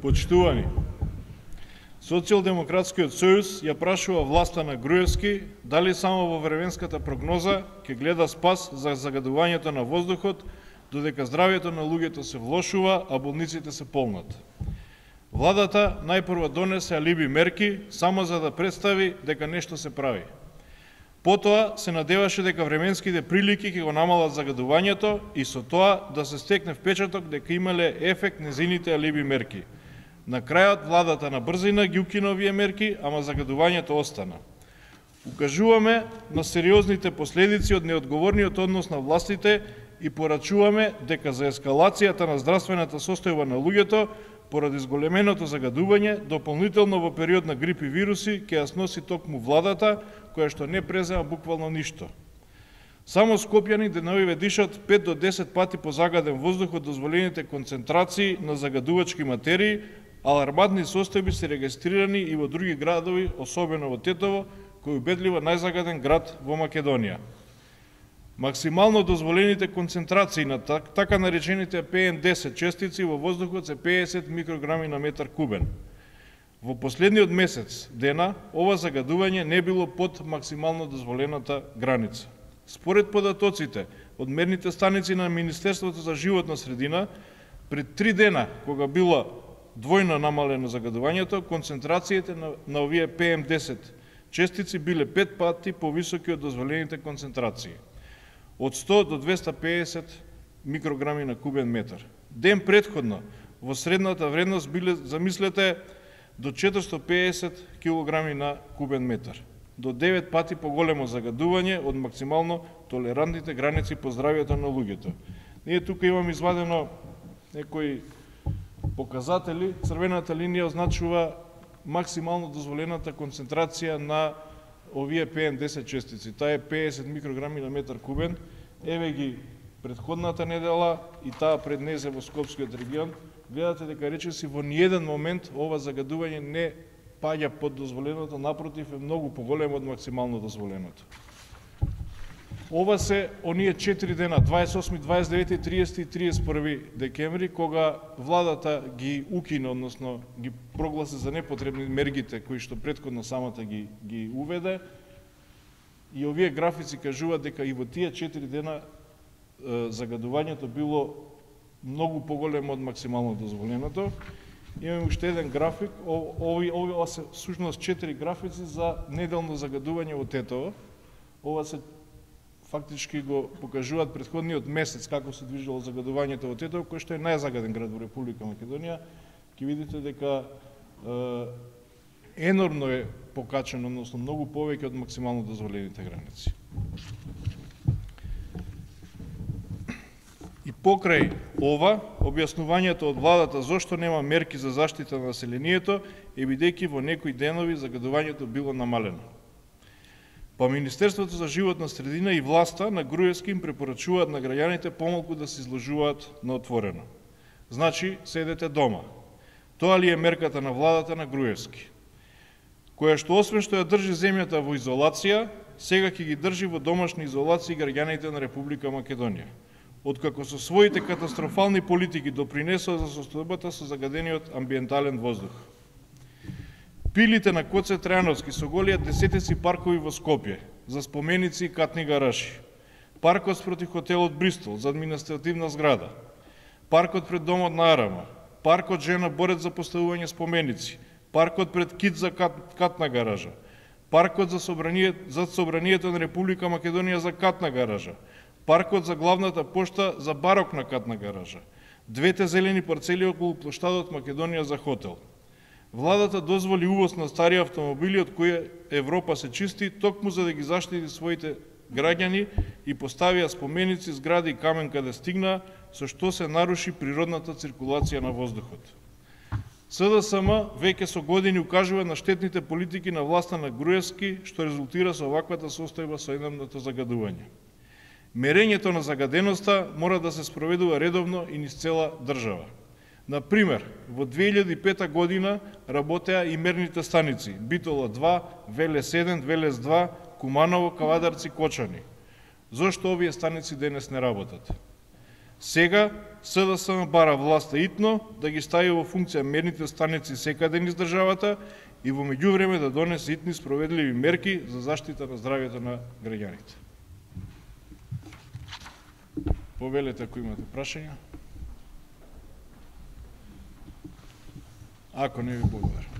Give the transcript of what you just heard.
Почитувани, Социјалдемократскиот сојуз ја прашува власта на Груевски дали само во временската прогноза ќе гледа спас за загадувањето на воздухот, додека здравјето на луѓето се влошува, а болниците се полнат. Владата најпрво донесе алиби мерки само за да представи дека нешто се прави. Потоа се надеваше дека временските прилики ќе го намалат загадувањето и со тоа да се стекне впечаток дека имале ефект незините алиби мерки. На крајот владата на брзина ги укина овие мерки, ама загадувањето остана. Укажуваме на сериозните последици од неодговорниот однос на властите и порачуваме дека за ескалацијата на здравствената состојба на луѓето поради зголеменото загадување, дополнително во период на грип и вируси, ќе ја сноси токму владата, која што не презема буквално ништо. Само скопјани деновиве дишат 5 до 10 пати позагаден воздух од дозволените концентрации на загадувачки материи, алармантни состојби се регистрирани и во други градови, особено во Тетово, кој убедливо најзагаден град во Македонија. Максимално дозволените концентрации на така наречените PM10 честици во воздухот се 50 микрограми на метар кубен. Во последниот месец дена, ова загадување не било под максимално дозволената граница. Според податоците од мерните станици на Министерството за животна средина, пред 3 дена, кога било двојно намалено загадувањето, концентрациите на овие PM10 честици биле 5 пати повисоки од дозволените концентрации, од 100 до 250 микрограми на кубен метар. Ден предходно, во средната вредност биле, замислете, до 450 килограми на кубен метар, до 9 пати поголемо загадување од максимално толерантните граници по здравјето на луѓето. Ние тука имаме извадено некои показатели. Црвената линија означува максимално дозволената концентрација на овие PM10 честици. Таа е 50 микрограми на метар кубен. Еве ги предходната недела и таа пред незе во Скопскиот регион. Гледате дека речиси во ниеден момент ова загадување не паѓа под дозволеното, напротив е многу поголемо од максимално дозволеното. Ова се оние 4 дена, 28, 29, 30 и 31 декември, кога владата ги укина, односно ги прогласи за непотребни мергите кои што претходно самата ги уведе. И овие графици кажуваат дека и во тие 4 дена загадувањето било многу поголемо од максимално дозволеното. Имаме уште еден график, ова се всушност 4 графици за неделно загадување во Тетово. Ова се фактички го покажуваат претходниот месец како се движило загадувањето во Тетово, кој што е најзагаден град во Република Македонија. Ќе видите дека енормно е покачено, односно многу повеќе од максимално дозволените граници. И покрај ова, објаснувањето од владата зошто нема мерки за заштита на населението е бидејќи во некои денови загадувањето било намалено. Па Министерството за животна средина и власта на Груевски им препорачуваат на граѓаните помалку да се изложуваат на отворено. Значи, седете дома. Тоа ли е мерката на владата на Груевски, која што освен што ја држи земјата во изолација, сега ќе ги држи во домашни изолации граѓаните на Република Македонија, откако со своите катастрофални политики допринесоа за состојбата со загадениот амбиентален воздух. Пилите на Коце Трајановски со голијат десетици паркови во Скопје, за споменици и катни гаражи, паркот спроти хотелот Бристол за административна зграда, паркот пред домот на Арама, паркот Жена борец за поставување споменици, паркот пред Кит за катна гаража, паркот за собранието на Република Македонија за катна гаража, паркот за главната пошта за барокна катна гаража, двете зелени парцели околу плоштадот Македонија за хотел. Владата дозволи увоз на стари автомобили од кои Европа се чисти, токму за да ги заштити своите граѓани и поставија споменици, згради и камен каде стигна, со што се наруши природната циркулација на воздухот. СДСМ веќе со години укажува на штетните политики на власта на Груевски, што резултира со оваквата состојба со енормното загадување. Мерењето на загаденоста мора да се спроведува редовно и низ цела држава. Например, во 2005 година работеа и мерните станици Битола 2, Велес 1, Велес 2, Куманово, Кавадарци, Кочани. Зошто овие станици денес не работат? Сега СДСМ бара власта итно да ги стави во функција мерните станици секаде низ државата и во меѓувреме да донесе итни спроведливи мерки за заштита на здравјето на граѓаните. Повелете ако имате прашања. Ако не, ви благодарам.